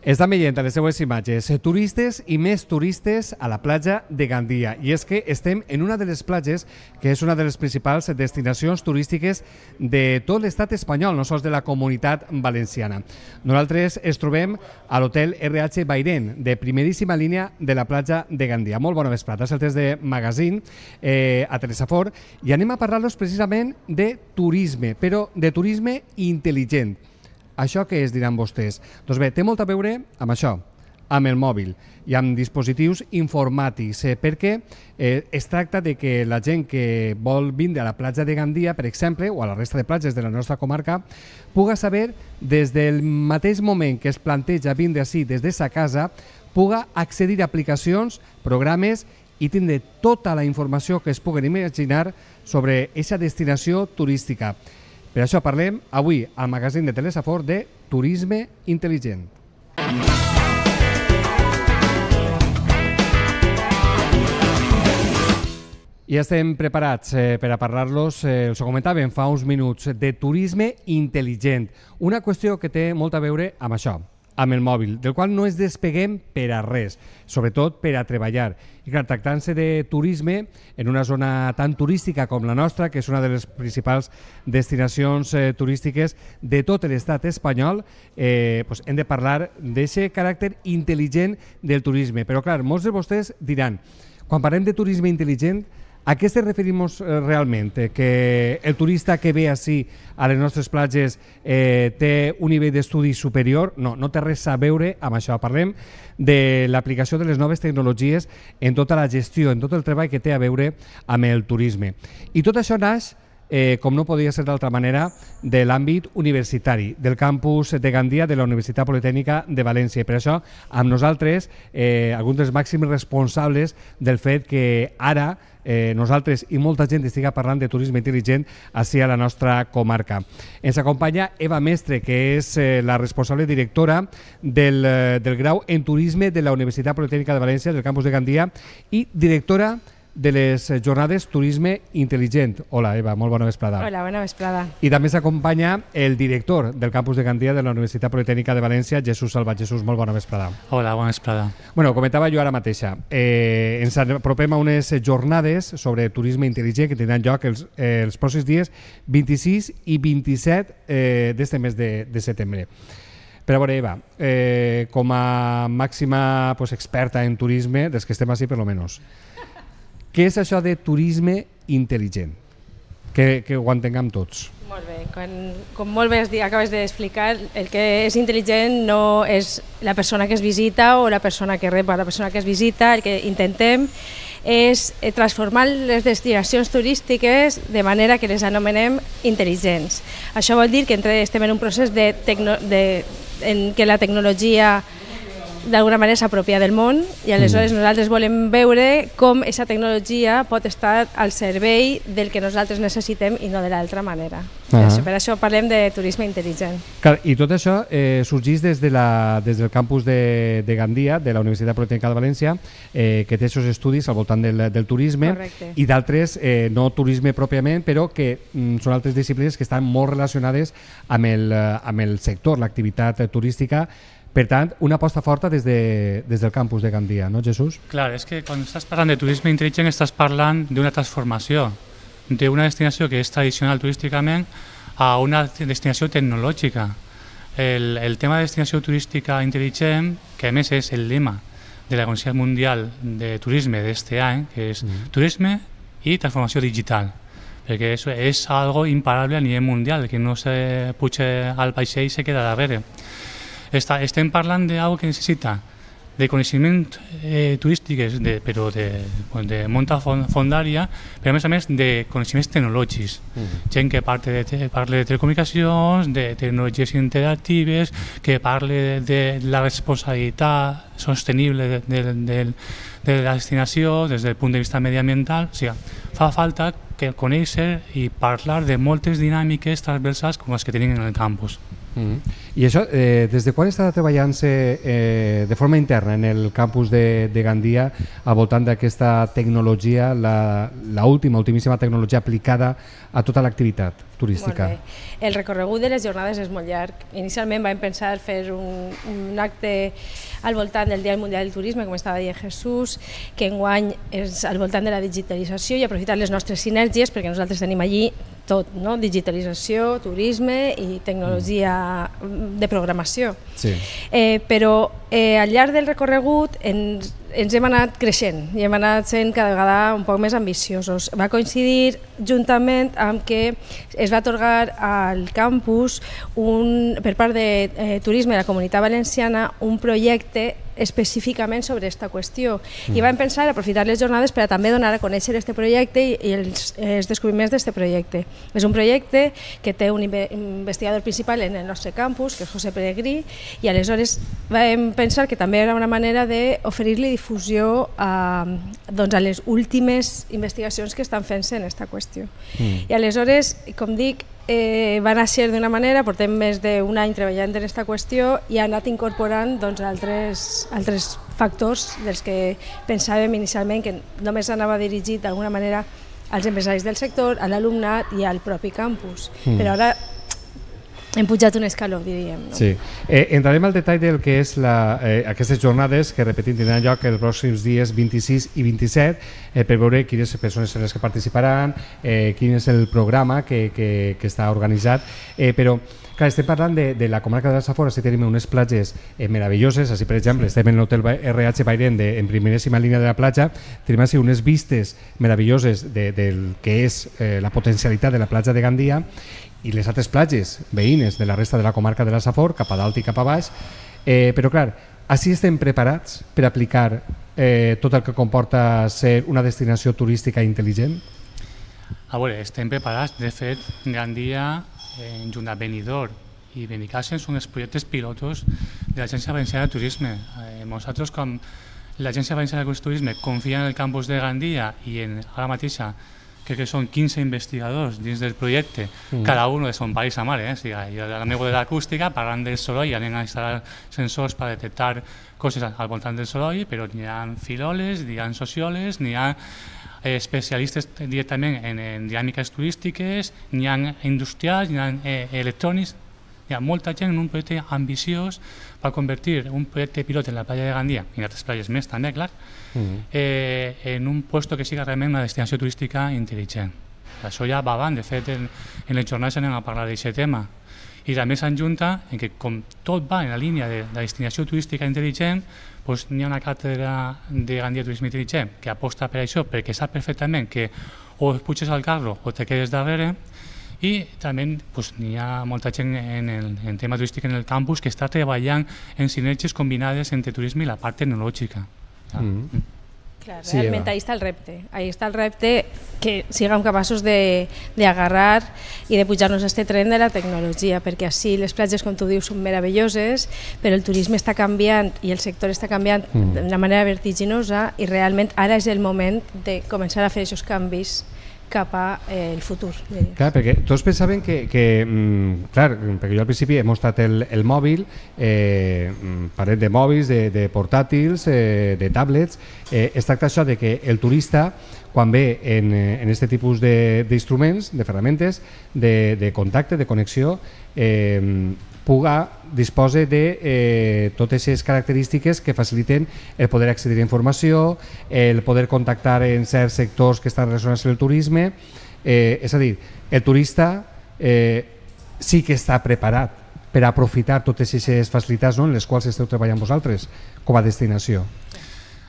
Estan veient a les seues imatges turistes i més turistes a la platja de Gandia. I és que estem en una de les platges que és una de les principals destinacions turístiques de tot l'estat espanyol, no sols de la Comunitat Valenciana. Nosaltres es trobem a l'hotel RH Bairén, de primeríssima línia de la platja de Gandia. Molt bona vesprada, és el test de Magazine a Teresa Fort i anem a parlar-los precisament de turisme, però de turisme intel·ligent. Això què és, diran vostès? Doncs bé, té molt a veure amb això, amb el mòbil i amb dispositius informàtics, perquè es tracta de que la gent que vol vindre a la platja de Gandia, per exemple, o a la resta de platges de la nostra comarca, puga saber des del mateix moment que es planteja vindre així des de sa casa, puga accedir a aplicacions, programes i tindre tota la informació que es puguen imaginar sobre aquesta destinació turística. Per això parlem avui al magazín de Teresa Fort de turisme intel·ligent. I estem preparats per a parlar-los, els ho comentàvem fa uns minuts, de turisme intel·ligent. Una qüestió que té molt a veure amb això, amb el mòbil, del qual no ens despeguem per a res, sobretot per a treballar. I clar, tractant-se de turisme en una zona tan turística com la nostra, que és una de les principals destinacions turístiques de tot l'estat espanyol, hem de parlar d'aquest caràcter intel·ligent del turisme. Però clar, molts de vostès diran, quan parlem de turisme intel·ligent, a què ens referim realment? Que el turista que ve així a les nostres platges té un nivell d'estudi superior? No, no té res a veure amb això. Parlem de l'aplicació de les noves tecnologies en tota la gestió, en tot el treball que té a veure amb el turisme. I tot això naix, com no podia ser d'altra manera, de l'àmbit universitari, del campus de Gandia de la Universitat Politècnica de València. I per això, amb nosaltres, alguns dels màxims responsables del fet que ara nosaltres i molta gent estiga parlant de turisme intel·ligent així a la nostra comarca. Ens acompanya Eva Mestre, que és la responsable directora del grau en turisme de la Universitat Politècnica de València, del campus de Gandia, i directora de les jornades Turisme Intel·ligent. Hola, Eva, molt bona vesprada. Hola, bona vesprada. I també s'acompanya el director del campus de Gandia de la Universitat Politècnica de València, Jesús Salvat. Jesús, molt bona vesprada. Hola, bona vesprada. Bueno, comentava jo ara mateixa, ens apropem a unes jornades sobre turisme intel·ligent que tindran lloc els pròxims dies 26 i 27 d'este mes de setembre. Però a veure, Eva, com a màxima experta en turisme, dels que estem així per lo menos, què és això de turisme intel·ligent? Que ho entenguem tots. Molt bé, com molt bé acabes d'explicar, el que és intel·ligent no és la persona que es visita o la persona que rep a la persona que es visita. El que intentem és transformar les destinacions turístiques de manera que les anomenem intel·ligents. Això vol dir que estem en un procés en què la tecnologia d'alguna manera s'apropia del món i aleshores nosaltres volem veure com aquesta tecnologia pot estar al servei del que nosaltres necessitem i no de l'altra manera. Per això parlem de turisme intel·ligent. I tot això sorgeix des del campus de Gandia, de la Universitat Politècnica de València, que té aquests estudis al voltant del turisme. Correcte. I d'altres, no turisme pròpiament, però que són altres disciplines que estan molt relacionades amb el sector, l'activitat turística. Per tant, una aposta forta des del campus de Gandia, no, Jesús? Clar, és que quan estàs parlant de turisme intel·ligent estàs parlant d'una transformació d'una destinació que és tradicional turísticament a una destinació tecnològica. El tema de destinació turística intel·ligent, que a més és el lema de la Conselleria Mundial de Turisme d'este any, que és turisme i transformació digital, perquè és algo imparable a nivell mundial, que no se puja al vaixell i se queda darrere. Estem parlant d'algo que necessita de coneixements turístics, però de molta fondària, però a més de coneixements tecnològics. Gent que parle de telecomunicacions, de tecnologies interactives, que parle de la responsabilitat sostenible de la destinació des del punt de vista mediambiental. O sigui, fa falta conèixer i parlar de moltes dinàmiques transversals com les que tenim en el campus. I això, des de quan està treballant-se de forma interna en el campus de Gandia al voltant d'aquesta tecnologia, ultimíssima tecnologia aplicada a tota l'activitat turística? El recorregut de les jornades és molt llarg. Inicialment vam pensar fer un acte al voltant del Dia Mundial del Turisme, com estava dient Jesús, que enguany és al voltant de la digitalització i aprofitar les nostres sinergies, perquè nosaltres tenim allí tot, no? Digitalització, turisme i tecnologia de programació. Sí. Però al llarg del recorregut ens hem anat creixent i hem anat sent cada vegada un poc més ambiciosos. Va coincidir juntament amb que es va atorgar al campus per part de Turisme de la Comunitat Valenciana un projecte específicament sobre aquesta qüestió i vam pensar aprofitar les jornades per a també donar a conèixer aquest projecte i els descobriments d'aquest projecte. És un projecte que té un investigador principal en el nostre campus, que és José Peregrí, i aleshores vam pensar que també era una manera d'oferir-li difusió a les últimes investigacions que estan fent-se en aquesta qüestió. I aleshores, com dic, va néixer d'una manera, portem més d'un any treballant en aquesta qüestió i ha anat incorporant altres factors dels que pensàvem inicialment que només anava dirigit d'alguna manera als empresaris del sector, a l'alumnat i al propi campus. Però ara hem pujat un escaló, diríem. Sí. Entrarem al detall del que és aquestes jornades que, repetim, tindran lloc els pròxims dies 26 i 27 per veure quines persones són les que participaran, quin és el programa que està organitzat, però clar, estem parlant de la comarca de la Safor. Així tenim unes platges meravelloses. Així, per exemple, estem en l'hotel RH Bairén en primeríssima línia de la platja, tenim així unes vistes meravelloses del que és la potencialitat de la platja de Gandia i les altres platges veïnes de la resta de la comarca de la Safor, cap a dalt i cap a baix, però clar, així estem preparats per aplicar tot el que comporta ser una destinació turística intel·ligent? A veure, estem preparats. De fet, Gandia, junt a Benidorm i Benicàssim, són els projectes pilotos de l'Agència Valenciana de Turisme. Nosaltres, com l'Agència Valenciana de Turisme, confia en el campus de Gandia i ara mateixa crec que són 15 investigadors dins del projecte, cada un de son país a mare. O sigui, jo de l'amigo de l'acústica, parlant del soroll, anem a instal·lar sensors per detectar coses al voltant del soroll, però n'hi ha filòlegs, n'hi ha sociòlegs, n'hi ha especialistes directament en dinàmiques turístiques, n'hi ha industrials, n'hi ha electrònics. Hi ha molta gent en un projecte ambiciós per convertir un projecte pilot en la platja de Gandia, i en altres platges més també, clar, en un lloc que sigui realment una destinació turística intel·ligent. Això ja va avant. De fet, en les jornades anem a parlar d'aquest tema. I també s'enjunta en que, com tot va en la línia de la destinació turística intel·ligent, n'hi ha una càtedra de Gandia Turisme Intel·ligent que aposta per això, perquè sap perfectament que o puges al carro o te quedes darrere. I també n'hi ha molta gent en tema turístic en el campus que està treballant en sinergies combinades entre turisme i la part tecnològica. Clar, realment ahí està el repte. Ahí està el repte que siguem capaços d'agarrar i de pujar-nos a aquest tren de la tecnologia, perquè així les platges, com tu dius, són meravelloses, però el turisme està canviant i el sector està canviant d'una manera vertiginosa i realment ara és el moment de començar a fer aquests canvis cap al futur. Clar, perquè tots pensaven que clar, perquè jo al principi he mostrat el mòbil, parlem de mòbils, de portàtils, de tablets. Es tracta això de que el turista, quan ve en aquest tipus d'instruments, de ferramentes, de contacte, de connexió, dispose de totes les característiques que faciliten el poder accedir a informació, el poder contactar en certs sectors que estan relacionats amb el turisme. És a dir, el turista sí que està preparat per aprofitar totes aquestes facilitats en les quals esteu treballant vosaltres com a destinació.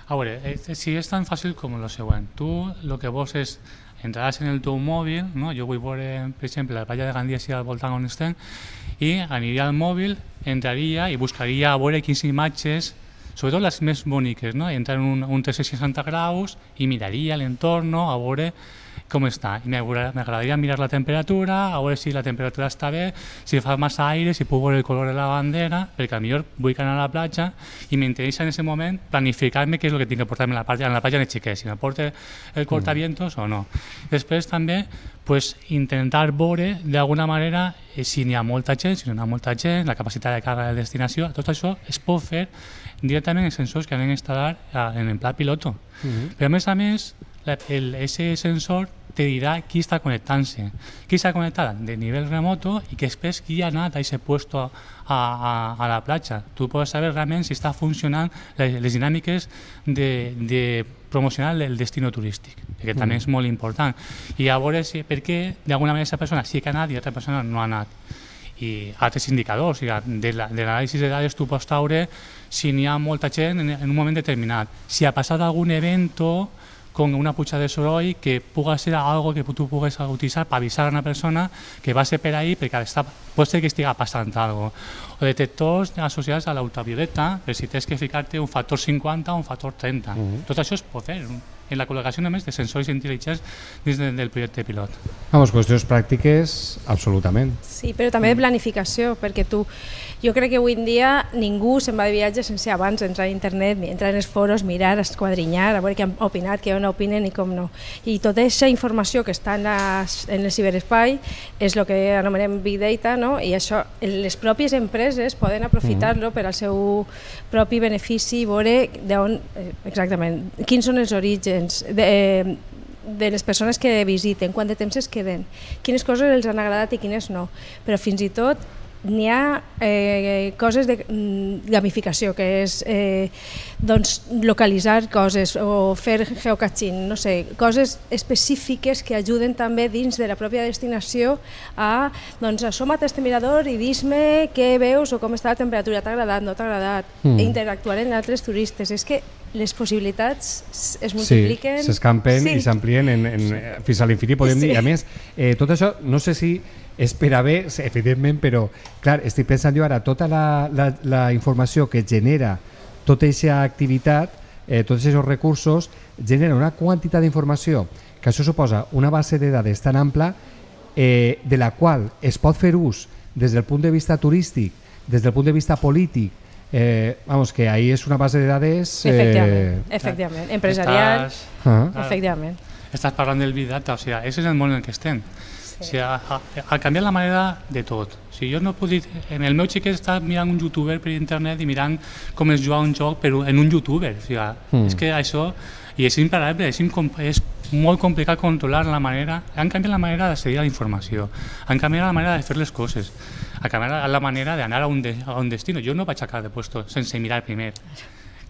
A veure, si és tan fàcil com el següent. Tu el que vols és entraràs en el teu mòbil, jo vull veure, per exemple, la platja de Gandia al voltant on estem, i aniria al mòbil, entraria i buscaria a veure quines imatges, sobretot les més boniques, entrar en un 360 graus i miraria l'entorn a veure com està. I m'agradaria mirar la temperatura, a veure si la temperatura està bé, si fa massa aire, si puc veure el color de la bandera, perquè potser vull anar a la platja i m'interessa en aquest moment planificar-me què és el que tinc que portar-me a la platja de xiquet, si m'aporta el cortavientos o no. Després també intentar veure d'alguna manera si n'hi ha molta gent, si no hi ha molta gent, la capacitat de càrrega de destinació, tot això es pot fer directament en sensors que han instal·lar en el pla piloto. Però a més, ese sensor te dirà qui està connectant-se, qui està connectat de nivell remoto i que després qui ha anat a aquest puesto a la platja. Tu pots saber realment si està funcionant les dinàmiques de promocionar el destino turístic, que també és molt important. I a veure per què d'alguna manera aquesta persona sí que ha anat i l'altra persona no ha anat. I altres indicadors, de l'anàlisi de dades tu pots treure si n'hi ha molta gent en un moment determinat, si ha passat algun evento con una puja de soroll que puga ser algo que tu pugues utilitzar per avisar a una persona que va ser per ahí perquè pot ser que estigui passant alguna cosa. O detectors associats a l'ultravioleta, per si tens que ficar-te un factor 50 o un factor 30. Tot això es pot fer en la col·locació només de sensors intel·ligents dins del projecte pilot. Vamos, qüestions pràctiques, absolutament. Sí, però també de planificació, perquè jo crec que avui en dia ningú se'n va de viatge sense abans entrar a internet, entrar en els foros, mirar, esquadrinyar, a veure què han opinat, què no opinen i com no. I tota aquesta informació que està en el ciberespai és el que anomenem Big Data, no? I això, les pròpies empreses poden aprofitar-lo per al seu propi benefici i veure exactament quins són els orígens de les persones que visiten, quant de temps es queden, quines coses els han agradat i quines no, però fins i tot n'hi ha coses de gamificació, que és localitzar coses o fer geocaching, no sé, coses específiques que ajuden també dins de la pròpia destinació a assoma't a este mirador i dis-me què veus o com està la temperatura, t'ha agradat, no t'ha agradat, interactuar amb altres turistes. És que les possibilitats es multipliquen... Sí, s'escampen i s'amplien fins a l'infinit, podem dir. A més, tot això, no sé si és per a bé, evidentment, però clar, estic pensant jo ara, tota la informació que genera tota aquesta activitat, tots aquests recursos, genera una quantitat d'informació que això suposa una base de dades tan ampla de la qual es pot fer ús des del punt de vista turístic, des del punt de vista polític. Vamos, que ahí és una base de dades... Efectivament, empresarial, efectivament. Estàs parlant del Big Data, o sigui, és el món en què estem. O sigui, ha canviat la manera de tot. O sigui, jo no puc dir... El meu xiquet està mirant un youtuber per internet i mirant com es juga un joc en un youtuber. O sigui, és que això... I és imparable, és molt complicat controlar la manera... Han canviat la manera d'accedir a la informació, han canviat la manera de fer les coses, han canviat la manera d'anar a un destino. Jo no vaig a cada puesto sense mirar primer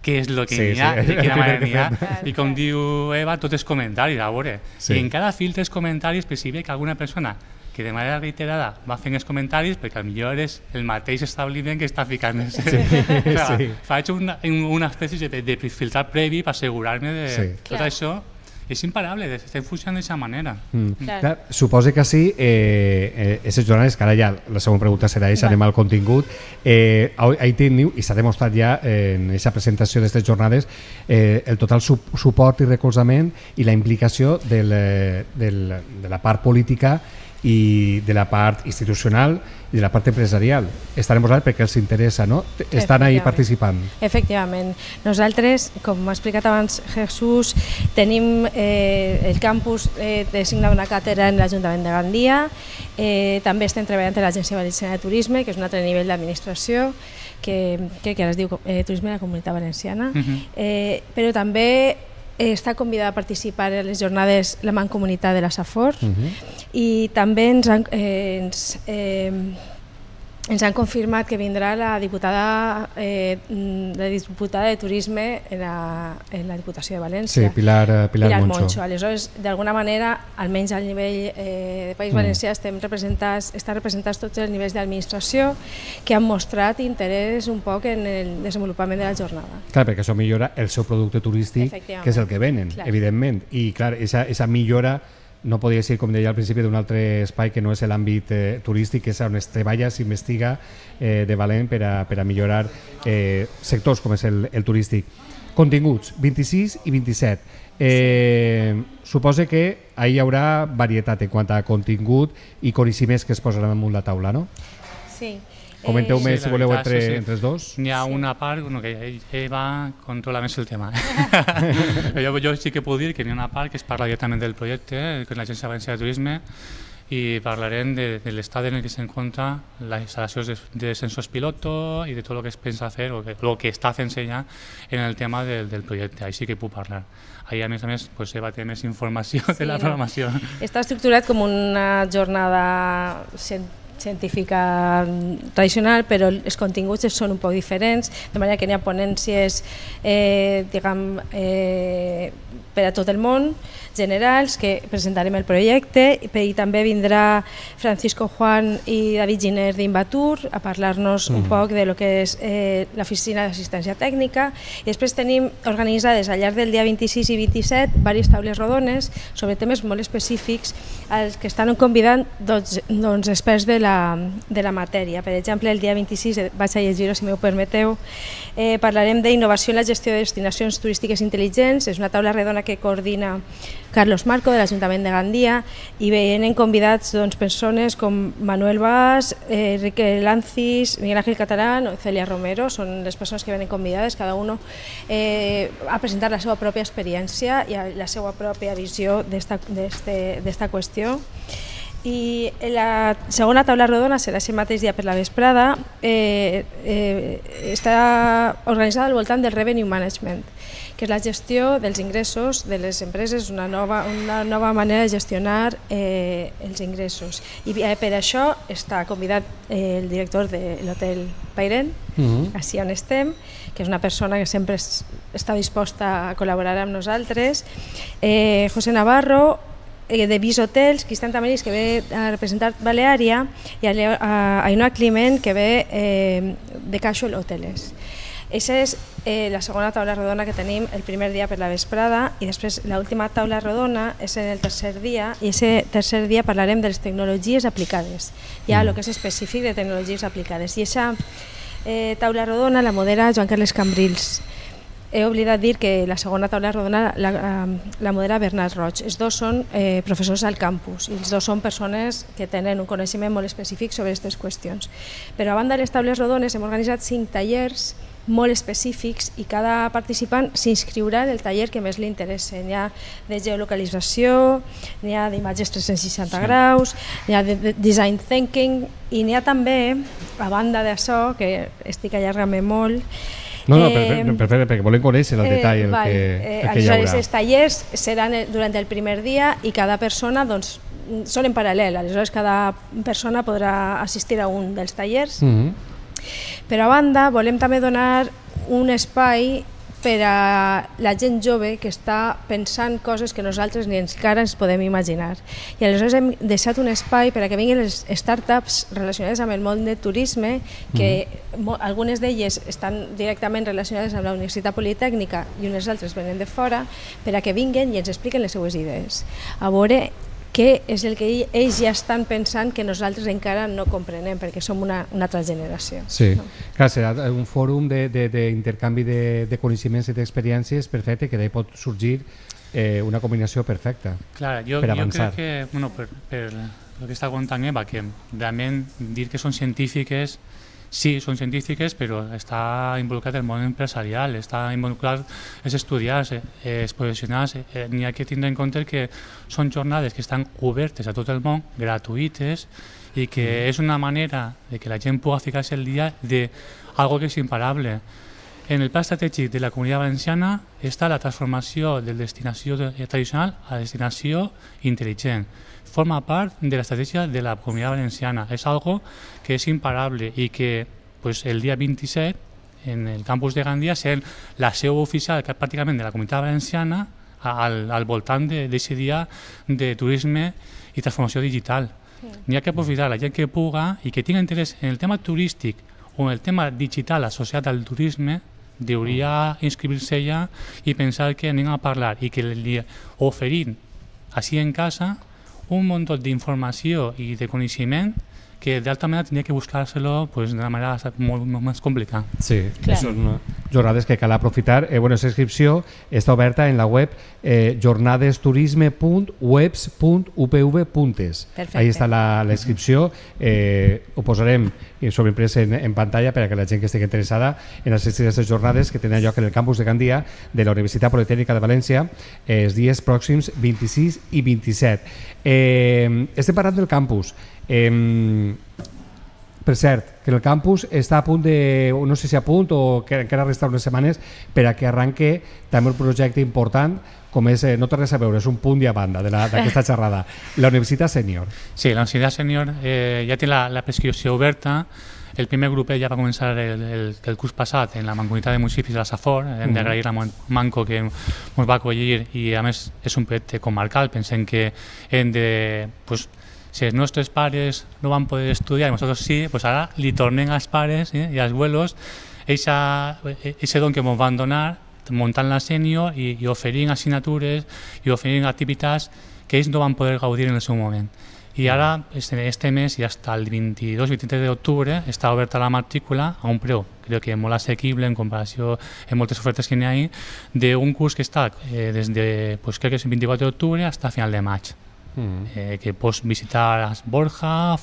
què és el que n'hi ha, de quina manera n'hi ha, i com diu Eva, tot és comentaris, a veure. I en cada fil dels comentaris és possible que alguna persona que de manera reiterada va fent els comentaris perquè potser és el mateix establiment que està ficant. Faig una espècie de filtrat previ per assegurar-me de tot això. És imparable, estem funcionant d'aquesta manera. Suposa que sí, aquestes jornades, que ara ja la següent pregunta serà aquesta, anem al contingut, ahí teniu, i s'ha demostrat ja en aquesta presentació d'aquestes jornades, el total suport i recolzament i la implicació de la part política i de la part institucional i de la part empresarial. Estan en vosaltres perquè els interessa, no? Estan ahí participant. Efectivament. Nosaltres, com ha explicat abans Jesús, tenim el campus designat una càtedra en l'Ajuntament de Gandia, també estem treballant en l'Agència Valenciana de Turisme, que és un altre nivell d'administració, que ara es diu Turisme de la Comunitat Valenciana, però també està convidada a participar en les jornades la Mancomunitat de la Safor i també ens han confirmat que vindrà la diputada de Turisme en la Diputació de València. Sí, Pilar Moncho. Aleshores, d'alguna manera, almenys al nivell de País Valencià, estan representats tots els nivells d'administració que han mostrat interès un poc en el desenvolupament de la jornada. Clar, perquè això millora el seu producte turístic, que és el que venen, evidentment. I clar, aquesta millora no podria ser, com deia al principi, d'un altre espai que no és l'àmbit turístic, que és on es treballa, s'investiga de valent per a millorar sectors com és el turístic. Continguts, 26 i 27. Suposo que ahí hi haurà varietat en quant a contingut i coneixements que es posaran damunt la taula, no? Sí. Comenteu-me, Sí, si voleu, veritat, entre els dos. N'hi ha una part que ell va controlar més el tema. jo sí que puc dir que n'hi ha una part que es parla directament del projecte, que és l'Agència Valenciana de Turisme, i parlarem de l'estat en el que s'encontra les instal·lacions de sensors piloto i de tot el que es pensa fer o el que està fent-se ja en el tema del projecte. Ahí sí que puc parlar. Ahí, a més, Eva té més informació de la programació. Està estructurat com una jornada científica tradicional, però els continguts són un poc diferents, de manera que n'hi ha ponències per a tot el món, generals, que presentarem el projecte, i també vindrà Francisco Juan i David Giner d'Invatur a parlar-nos un poc de lo que és l'oficina d'assistència tècnica, i després tenim organitzades al llarg del dia 26 i 27 diverses taules rodones sobre temes molt específics als que estan convidant experts de la matèria. Per exemple, el dia 26, vaig a llegir-ho si m'ho permeteu, parlarem d'innovació en la gestió de destinacions turístiques intel·ligents. És una taula redona que coordina Carlos Marco, de l'Ajuntament de Gandia, i venen convidats persones com Manuel Bas, Enrique Lancis, Miguel Ángel Catalán o Celia Romero. Són les persones que venen convidades, cada un a presentar la seva pròpia experiència i la seva pròpia visió d'esta qüestió. I la segona taula rodona serà aquest mateix dia per la vesprada. Està organitzada al voltant del revenue management, que és la gestió dels ingressos de les empreses, una nova manera de gestionar els ingressos. I per això està convidat el director de l'hotel Pairen, així on estem, que és una persona que sempre està disposta a col·laborar amb nosaltres, José Navarro, de Vis Hotels, Cristian Tamaris, que ve a representar Baleària, i Ainhoa Climent, que ve de Casual Hotels. Aquesta és la segona taula rodona que tenim el primer dia per la vesprada, i després l'última taula rodona és en el tercer dia, i aquest tercer dia parlarem de les tecnologies aplicades, ja el que és específic de tecnologies aplicades. I aquesta taula rodona la modera Joan Carles Cambrils. He oblidat dir que la segona taula rodona la modera Bernat Roig. Els dos són professors al campus i els dos són persones que tenen un coneixement molt específic sobre aquestes qüestions. Però a banda de les taules rodones hem organitzat 5 tallers molt específics i cada participant s'inscriurà en el taller que més li interessa. N'hi ha de geolocalització, n'hi ha d'imatges 360 graus, n'hi ha de design thinking, i n'hi ha també, a banda d'això, que estic allargant-me molt, perfecte, perquè volem conèixer el detall el que hi haurà. Els tallers seran durant el primer dia i cada persona són en paral·lel, aleshores cada persona podrà assistir a un dels tallers. Però a banda volem també donar un espai per a la gent jove que està pensant coses que nosaltres ni encara ens podem imaginar. I aleshores hem deixat un espai per a que vinguin les startups relacionades amb el món de turisme, que algunes d'elles estan directament relacionades amb la Universitat Politècnica i unes altres venen de fora, per a que vinguin i ens expliquen les seues idees. A veure què és el que ells ja estan pensant que nosaltres encara no comprenem, perquè som una altra generació. Sí, clar, serà un fòrum d'intercanvi de coneixements i d'experiències perfecte, que d'ahí pot sorgir una combinació perfecta per avançar. Jo crec que, per el que està contant Eva, que realment dir que són científiques, sí, són científiques, però està involucrat el món empresarial, està involucrat els estudiants, els professionals. N'hi ha que tindre en compte que són jornades que estan obertes a tot el món, gratuïtes, i que és una manera de que la gent pugui ficar-se al dia d'algo que és imparable. En el pla estratègic de la Comunitat Valenciana està la transformació de destinació tradicional a destinació intel·ligent. Forma part de l'estratègia de la Comunitat Valenciana. És algo que és imparable i que el dia 27 en el campus de Gandia serà la seu oficial pràcticament de la Comunitat Valenciana al voltant d'aquest dia de turisme i transformació digital. N'hi ha que aprofitar la gent que puga i que tingui interès en el tema turístic o en el tema digital associat al turisme, hauria inscriure-se ja i pensar que anem a parlar i que li oferim així en casa un munt d'informació i de coneixement que d'altra manera tindria que buscar-se-lo d'una manera molt més complicada. Sí, jornades que cal aprofitar. Aquesta inscripció està oberta en la web jornadesturisme.webs.upv.es. Ahí està la inscripció. Ho posarem sobreimprès en pantalla per a que la gent que estigui interessada en assistir a aquestes jornades que tenen lloc en el campus de Gandia de la Universitat Politècnica de València els dies pròxims 26 i 27. Estem parlant del campus. Per cert, que el campus està a punt de, no sé si a punt o que encara resta unes setmanes per a que arranque també un projecte important com és, no té res a veure, és un punt i a banda d'aquesta xerrada, la Universitat Sènior. Sí, la Universitat Sènior ja té la prescripció oberta. El primer grupet ja va començar el curs passat en la Mancomunitat de Municipis de la Safor. Hem d'agrair a Manco que ens va acollir i a més és un projecte comarcal. Pensem que hem de... Si els nostres pares no van poder estudiar i nosaltres sí, pues ara li tornem als pares i als abuelos aquest don que ens van donar muntant la sènior i oferint assignatures i oferint activitats que ells no van poder gaudir en el seu moment. I ara, este mes i fins al 22-23 d'octubre està oberta la matrícula a un preu, crec que molt assequible en comparació amb moltes ofertes que n'hi ha, d'un curs que està des de, crec que és el 24 d'octubre fins a final de maig. Que pots visitar Borja,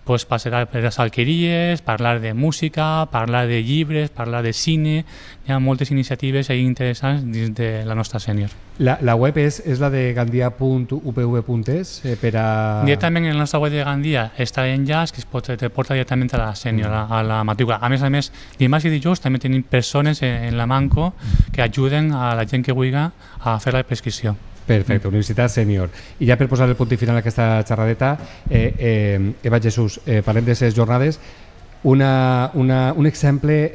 pots passejar per les alqueries, parlar de música, parlar de llibres, parlar de cine. Hi ha moltes iniciatives interessants dins de la nostra sènior. La web és la de gandia.upv.es Directament en la nostra web de Gandia està l'enllaç que te porta directament a la sènior, a la matrícula. A més, dimarts i dijous també tenim persones en la Manco que ajuden a la gent que vulgui a fer la prescripció. Perfecte, Universitat Sènior. I ja per posar el punt i final a aquesta xerradeta, Eva Jesús, parlem de les jornades. Un exemple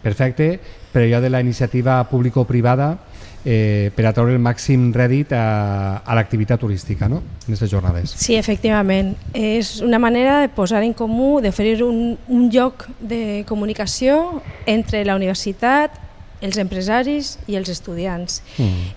perfecte per allò de la iniciativa público-privada per a treure el màxim rèdit a l'activitat turística, no?, en aquestes jornades. Sí, efectivament. És una manera de posar en comú, d'oferir un lloc de comunicació entre la universitat, els empresaris i els estudiants.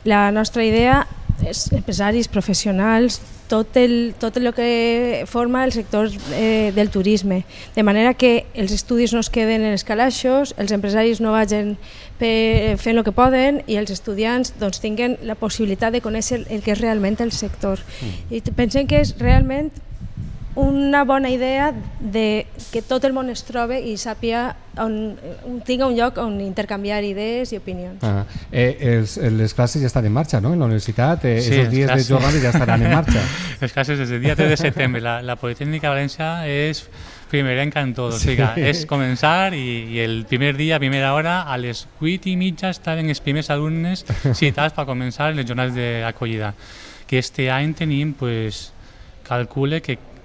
La nostra idea és empresaris, professionals, tot el que forma el sector del turisme, de manera que els estudis no es queden en els calaixos, els empresaris no vagin fent el que poden i els estudiants tinguen la possibilitat de conèixer el que és realment el sector. I pensem que és realment una bona idea de que tot el món es trobi i sàpiga tinga un lloc on intercanviar idees i opinions. Les classes ja estan en marxa, no?, en la universitat. Aquests dies de jornada ja estaran en marxa. Les classes des del dia 3 de setembre. La Politècnica de València és primerenca en tot. O sigui, és començar i el primer dia, a primera hora, a les 8:30 estaven els primers alumnes citats per començar les jornades d'acollida. Que este any tenim, calcule que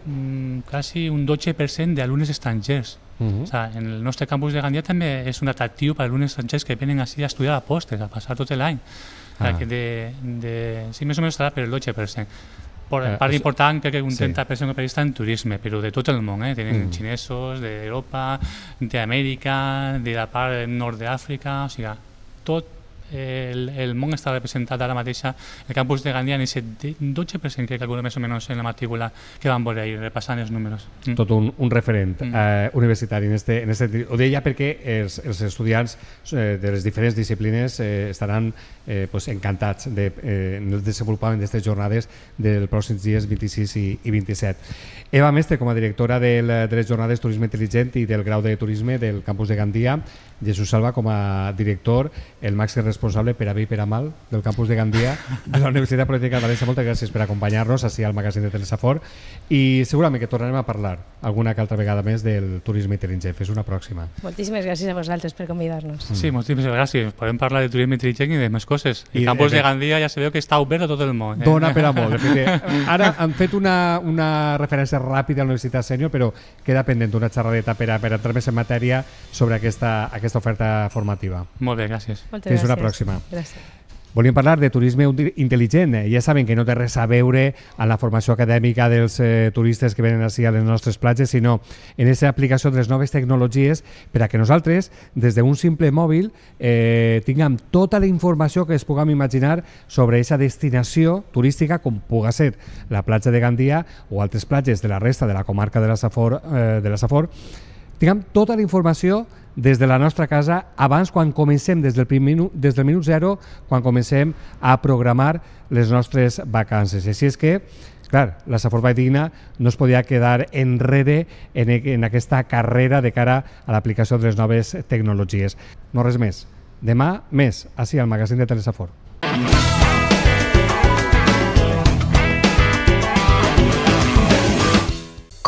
quasi un 12% d'alumnes estrangers. O sigui, en el nostre campus de Gandia també és un atractiu per a alumnes estrangers que venen així a estudiar a postres, a passar tot l'any. Sí, més o menys estarà per el 12%. Part important, crec que un 30% està en turisme, però de tot el món. Tenen xinesos d'Europa, d'Amèrica, de la part nord d'Àfrica, o sigui, tot el món està representat ara mateix. El campus de Gandia en aquest 12% que calcula més o menys en la matrícula que van veure ahir, repassant els números. Tot un referent universitari. Ho deia perquè els estudiants de les diferents disciplines estaran encantats en el desenvolupament d'aquestes jornades dels pròxims dies 26 i 27. Eva Mestre, com a directora de les jornades Turisme Intel·ligent i del grau de Turisme del campus de Gandia, Jesús Salva, com a director, el màxim responsable per a bé i per a mal del campus de Gandia de la Universitat Politècnica de València. Moltes gràcies per acompanyar-nos així al magazín de Telesafor i segurament que tornarem a parlar alguna que altra vegada més del turisme intel·ligent. Fins una pròxima. Moltíssimes gràcies a vosaltres per convidar-nos. Sí, moltíssimes gràcies. Podem parlar de turisme intel·ligent i de més coses. El campus de Gandia ja sabeu que està obert a tot el món. Dona per a molt. Ara han fet una referència ràpida a la Universitat Sènior, però queda pendent una xerradeta per entrar més en matèria sobre aquesta oferta formativa. Molt bé, gràcies. Fins una pròxima. Gràcies. Volíem parlar de turisme intel·ligent. Ja saben que no té res a veure amb la formació acadèmica dels turistes que venen així a les nostres platges, sinó en aquesta aplicació de les noves tecnologies per a que nosaltres, des d'un simple mòbil, tinguem tota la informació que es puguem imaginar sobre aquesta destinació turística, com pugui ser la platja de Gandia o altres platges de la resta de la comarca de la Safor, tinguem tota la informació des de la nostra casa abans, quan comencem, des del minut zero, quan comencem a programar les nostres vacances. Així és que, clar, la Safor Valldigna no es podia quedar enrere en aquesta carrera de cara a l'aplicació de les noves tecnologies. No res més. Demà més, així al magazín de Telesafor.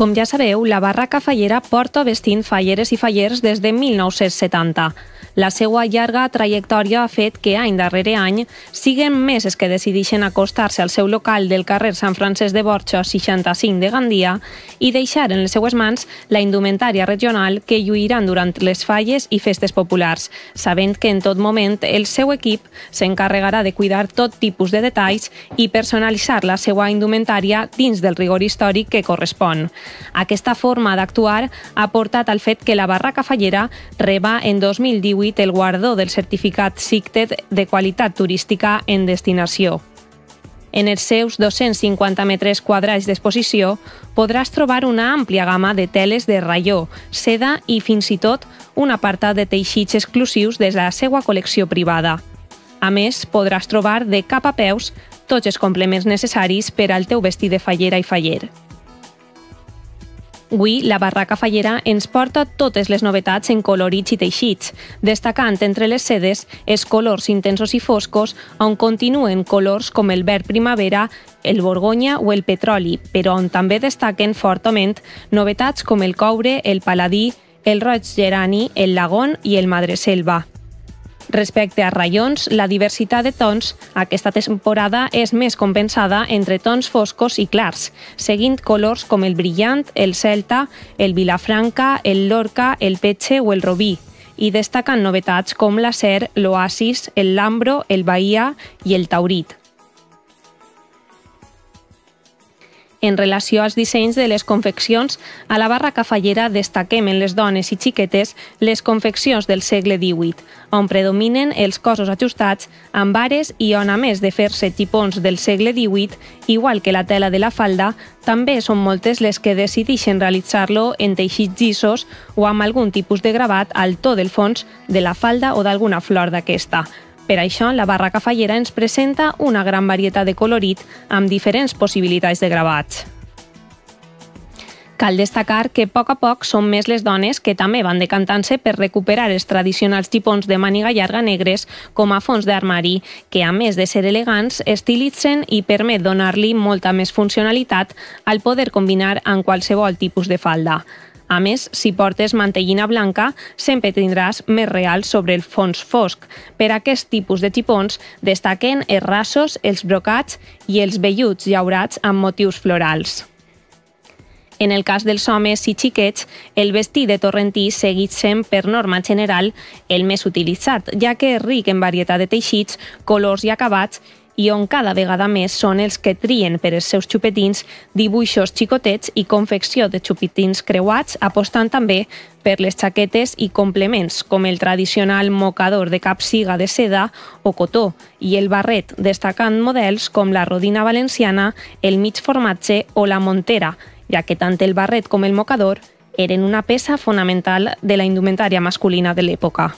Com ja sabeu, la Barraca Fallera porta vestint falleres i fallers des de 1970. La seva llarga trajectòria ha fet que any darrere any siguen més els que decideixen acostar-se al seu local del carrer Sant Francesc de Borja 65 de Gandia i deixar en les seues mans la indumentària regional que lluiran durant les falles i festes populars, sabent que en tot moment el seu equip s'encarregarà de cuidar tot tipus de detalls i personalitzar la seva indumentària dins del rigor històric que correspon. Aquesta forma d'actuar ha portat al fet que la Barraca Fallera reba en 2018 el guardó del certificat SICTED de qualitat turística en destinació. En els seus 250 metres quadrats d'exposició podràs trobar una àmplia gamma de teles de raió, seda i fins i tot un apartat de teixits exclusius de la seva col·lecció privada. A més, podràs trobar de cap a peus tots els complements necessaris per al teu vestit de fallera i faller. Avui, la Barraca Fallera ens porta totes les novetats en colorits i teixits, destacant entre les sedes els colors intensos i foscos, on continuen colors com el verd primavera, el borgonya o el petroli, però on també destaquen fortament novetats com el coure, el paladí, el roig gerani, el lagón i el madreselva. Respecte a raions, la diversitat de tons aquesta temporada és més compensada entre tons foscos i clars, seguint colors com el brillant, el celta, el vilafranca, el lorca, el petxe o el robí, i destacant novetats com l'acer, l'oasis, el lambro, el bahia i el taurit. En relació als dissenys de les confeccions, a la Barraca Fallera destaquem en les dones i xiquetes les confeccions del segle XVIII, on predominen els cossos ajustats amb ares i on, a més de fer-se xipons del segle XVIII, igual que la tela de la falda, també són moltes les que decideixen realitzar-lo en teixits llisos o amb algun tipus de gravat al to del fons de la falda o d'alguna flor d'aquesta. Per això, la Barraca Fallera ens presenta una gran varietat de colorit amb diferents possibilitats de gravats. Cal destacar que a poc són més les dones que també van decantant-se per recuperar els tradicionals xipons de màniga llarga negres com a fons d'armari, que a més de ser elegants, estilitzen i permet donar-li molta més funcionalitat al poder combinar amb qualsevol tipus de falda. A més, si portes mantellina blanca, sempre tindràs més real sobre el fons fosc. Per aquest tipus de xipons destaquen els rasos, els brocats i els velluts llaurats amb motius florals. En el cas dels homes i xiquets, el vestit de torrentí seguit sent, per norma general, el més utilitzat, ja que és ric en varietat de teixits, colors i acabats, i on cada vegada més són els que trien per als seus xupetins dibuixos xicotets i confecció de xupetins creuats, apostant també per les xaquetes i complements, com el tradicional mocador de capsiga de seda o cotó i el barret, destacant models com la rodina valenciana, el mig formatge o la montera, ja que tant el barret com el mocador eren una peça fonamental de la indumentària masculina de l'època.